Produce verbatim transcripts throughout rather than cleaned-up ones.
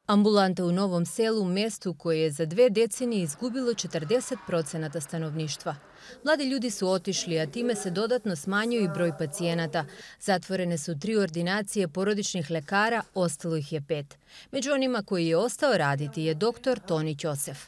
Ambulanta u Novom Selu, mestu koje je za dve decenije izgubilo četrdeset procenata stanovništva. Mladi ljudi su otišli, a time se dodatno smanjio i broj pacijenata. Zatvorene su tri ordinacije porodičnih lekara, ostalo ih je pet. Među onima koji je ostao raditi je doktor Toni Ćosef.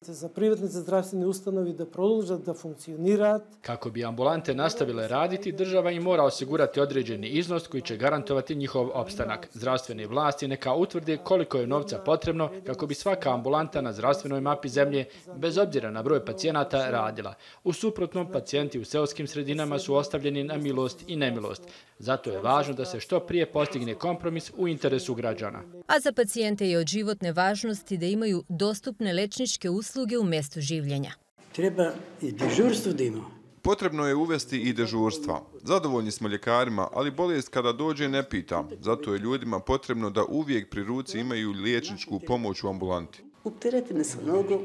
Za privatne zdravstvene ustanovi da produžat da funkcionirati. Kako bi ambulante nastavile raditi, država im mora osigurati određeni iznos koji će garantovati njihov opstanak. Zdravstvene vlasti neka utvrde koliko je novca potrebno kako bi svaka ambulanta na zdravstvenoj mapi zemlje, bez obzira na broj pacijenata, radila. U suprotnom, pacijenti u seoskim sredinama su ostavljeni na milost i nemilost. Zato je važno da se što prije postigne kompromis u interesu građana. A za pacijente je od životne važnosti da imaju dostupne lečničke usluge u mestu življenja. Treba i dežurstvo da ima. Potrebno je uvesti i dežurstva. Zadovoljni smo ljekarima, ali bolest kada dođe ne pita. Zato je ljudima potrebno da uvijek pri ruci imaju liječničku pomoć u ambulanti. Opteretene su mnogo.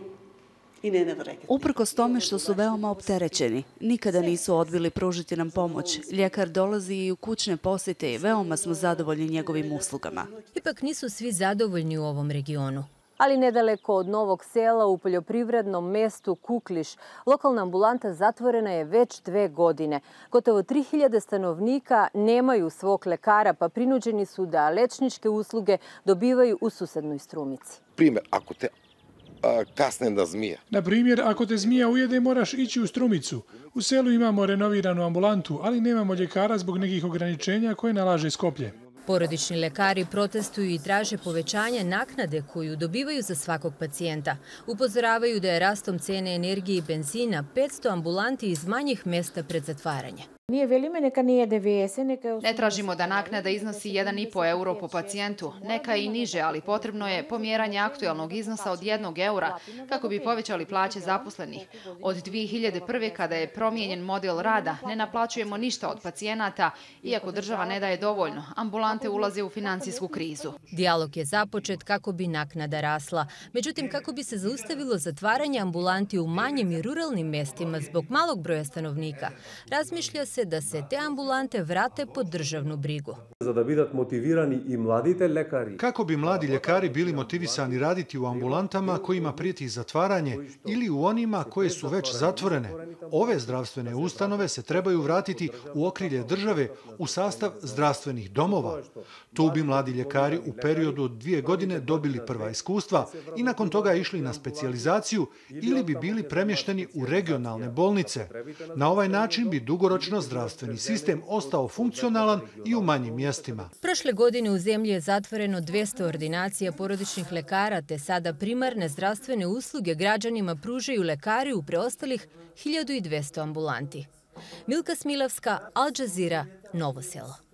Uprkos tome što su veoma opterećeni, nikada nisu odbili pružiti nam pomoć. Ljekar dolazi i u kućne posjete i veoma smo zadovoljni njegovim uslugama. Ipak nisu svi zadovoljni u ovom regionu. Ali nedaleko od Novog Sela u poljoprivrednom mestu Kukliš, lokalna ambulanta zatvorena je već dve godine. Gotovo tri hiljade stanovnika nemaju svog lekara, pa prinuđeni su da lečničke usluge dobivaju u susednoj Strumici. Primjer, ako te kasne da zmija. Na primjer, ako te zmija ujede, moraš ići u Strumicu. U selu imamo renoviranu ambulantu, ali nemamo ljekara zbog nekih ograničenja koje nalaže Skoplje. Porodični lekari protestuju i traže povećanje naknade koju dobivaju za svakog pacijenta. Upozoravaju da je rastom cene energije i benzina petsto ambulanti iz manjih mesta pred zatvaranje. Ne tražimo da naknada iznosi jedan i po euro po pacijentu, neka i niže, ali potrebno je pomjeranje aktualnog iznosa od jednog eura kako bi povećali plaće zaposlenih. Od dvije hiljade prve. kada je promijenjen model rada, ne naplaćujemo ništa od pacijenata, iako država ne daje dovoljno. Ambulante ulaze u financijsku krizu. Dijalog je započet kako bi naknada rasla. Međutim, kako bi se zaustavilo zatvaranje ambulanti u manjim i ruralnim mestima zbog malog broja stanovnika, razmišlja se da se te ambulante vrate pod državnu brigu. Kako bi mladi ljekari bili motivisani raditi u ambulantama kojima prijeti zatvaranje ili u onima koje su već zatvorene? Ove zdravstvene ustanove se trebaju vratiti u okrilje države u sastav zdravstvenih domova. Tu bi mladi ljekari u periodu od dvije godine dobili prva iskustva i nakon toga išli na specijalizaciju ili bi bili premješteni u regionalne bolnice. Na ovaj način bi dugoročno zdravstveni sistem ostao funkcionalan i u manjim mjestima. Prošle godine u zemlji je zatvoreno dvjesto ordinacija porodičnih lekara, te sada primarne zdravstvene usluge građanima pružaju lekari u preostalih hiljadu dvjesto ambulanti. Milka Smilavska, Al Jazeera, Novo Selo.